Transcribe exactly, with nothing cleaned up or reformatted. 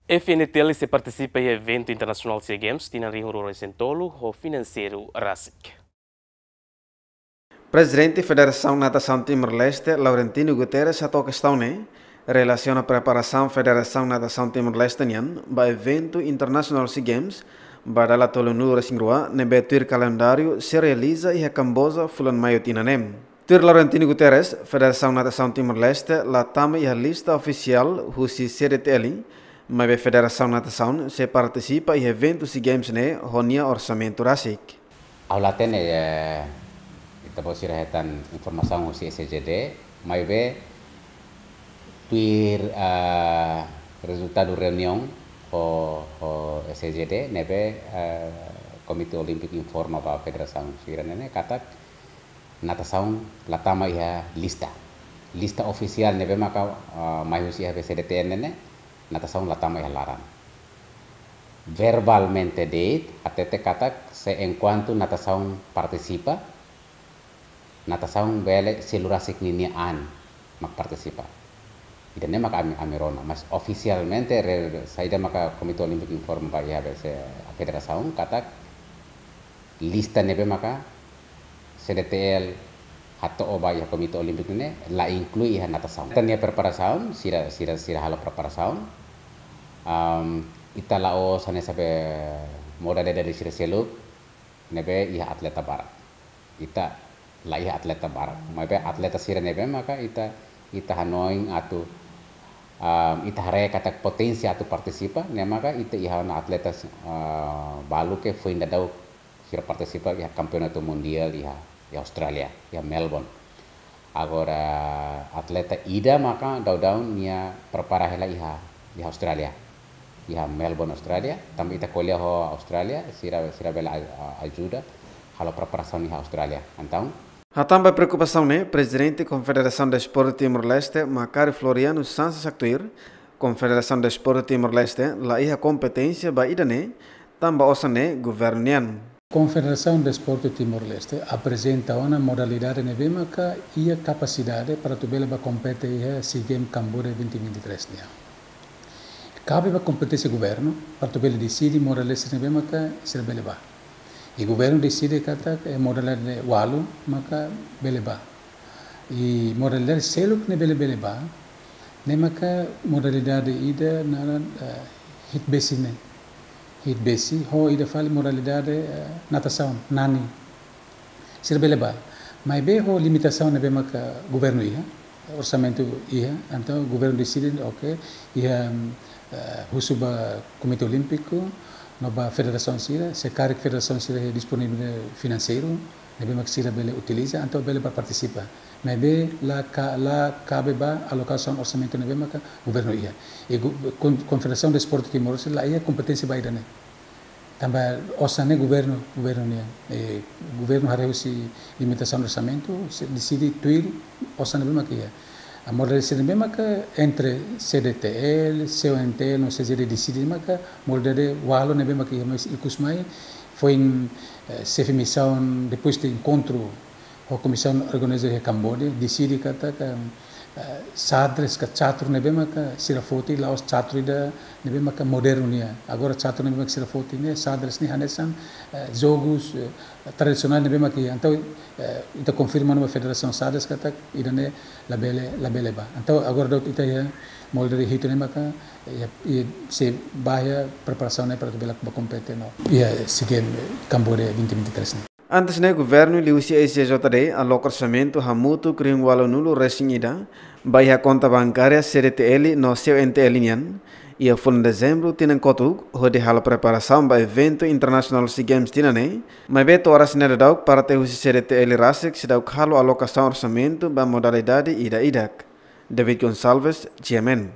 F N T L sei partisipa iha eventu internasionál SEA Games tinan rihun rua ruanulu-resin-tolu ho finanseiru rasik. Prezidente Federasaun Natasaun Timor-Leste, Laurentino Guterres, hato'o kestaun ne'e relasiona preparasaun Federasaun Natasaun Timor-Leste nian ba eventu internasionál SEA Games ba dala tolunulu-resin-rua ne'ebé tuir kalendáriu sei realiza iha Kamboja fulan Maiu tinan ne'e. Tuir Laurentino Guterres, Federasaun Natasaun Timor-Leste la tama iha lista ofisiál husi C D T L, maibé Federasaun Natasaun sei partisipa iha eventu SEA Games ne'e ho nia orsamentu rasik. Ha'u la hatene, eh, ita-boot sira hetan informasaun husi S C J D, maibé tuir, eh, rezultadu reuniaun ho, ho S C J D, ne'ebé, eh, Komité Olímpiku informa ba federasaun sira-ne'e ne'e katak natasaun la tama iha lista. Lista ofisiál ne'ebé maka, ah, mai husi iha B C D T N ne'e, natasaun la tama iha laran. Verbalmente de'it, hatete katak se enkuantu natasaun partisipa, natasaun bele selu rasik ninia an mak partisipa. Ida-ne'e maka ami, ami rona, mas ofisialmente re, saida maka Komité Olímpiku informa ba iha B C, federasaun katak lista ne'ebé maka C D T L hato'o ba iha Komité Olímpiku ne'e la inklui iha natasaun. Ita-nia preparasaun, sira, sira, sira halo preparasaun. Am, ita la'ós hanesan be modalidade sira seluk ne'ebé iha atleta barak. Ita la iha atleta barak. Maibé atleta sira ne'ebé maka ita, ita hanoin atu, am, ita haree katak potensi atu partisipa, ne'e maka ita iha ona atleta, ah, balu ke foin daudaun sira partisipa iha kampeonatu mundiál iha, iha Austrália, iha Melbourne. Agora atleta ida maka daudaun nia prepara hela iha, iha Austrália. Iha Melbourne, Austrália. Tanba ita ko'alia ho Austrália, sira, sira bele a, a, ajuda halo preparasaun iha Austrália. Entaun, hatán ba preokupasaun ne'e, Prezidente Konfederasaun Desportu Timor-Leste, Macário Floriano Sanches haktuir, Konfederasaun Desportu Timor-Leste la iha kompeténsia ba ida-ne'e, tanba osan ne'e governu nian. Konfederasaun Desportu Timor-Leste aprezenta ona modalidade ne'ebé maka iha kapasidade para atu bele ba kompete iha SEA Games Kamboja vinte vinte e três nian. Kabe ba kompeténsia governu para atu bele deside modalidade ne'ebé maka sira bele ba. I governu deside katak, eh, modalidade ualu maka bele ba. I modalidade seluk ne'ebé bele, bele ba, ne'e maka modalidade ida naran, eh, hiit besi ne'e. Hiit besi, ho ida fali modalidade, eh, natasaun, nani. Sira bele ba. Maibé ho limitasaun ne'ebé maka governu iha, orsamentu iha, entaun governu deside, oke, iha, eh, husu ba Komité Olímpiku, no ba federasaun sira, se karik federasaun sira iha disponibilidade finanseiru, ne'ebé maka sira bele utiliza, entaun bele ba partisipa. Maibé la ka, la kabe ba alokasaun orsamentu ne'ebé maka governu iha. I go, Kon, Konfederasaun Desportu Timor-Leste la iha kompeténsia ba ida-ne'e. Tanba osan ne'e governu, governu nian. I governu haree husi limitasaun orsamentu, sei deside tuir osan ne'ebé maka iha. A modalidade sira ne'ebé maka entre C D T L, C O N T L, no C C D deside maka modalidade ualu ne'ebé maka iha, mas ikus mai, foin, eh, xefe misaun, depois de enkontru ho komisaun organizadora iha Kamboja, deside katak, eh, xadrez ka catur ne'ebé maka sira foti, la'ós catur ida ne'ebé maka modernu nian. Agora catur ne'ebé maka sira foti ne'e, xadrez ne'e hanesan, eh, jogus, eh, tradisionál ne'ebé maka iha. Entaun, eh, ita konfirma ona ba Federasaun Xadrez katak ida-ne'e labele, labele ba. Entaun agora daudaun ita iha modalidade hitu ne'e maka, eh, iha, sei ba iha preparasaun ne'e para atu bele ba kompete no iha SEA Games Kamboja vinte vinte e três ne'e. Antes ne'e, governu liuhusi S J J D aloka orsamentu hamutuk rihun ualunulu-resin-ida ba iha konta bankária C D T L no C O N T L nian iha fulan Dezembru tinan kotuk, hodi halo preparasaun ba eventu internasionál SEA Games tinan ne'e, maibé to'o oras ne'e daudauk parte husi C D T L rasik seidauk halo alokasaun orsamentu ba modalidade ida-idak. David Gonçalves, G M N.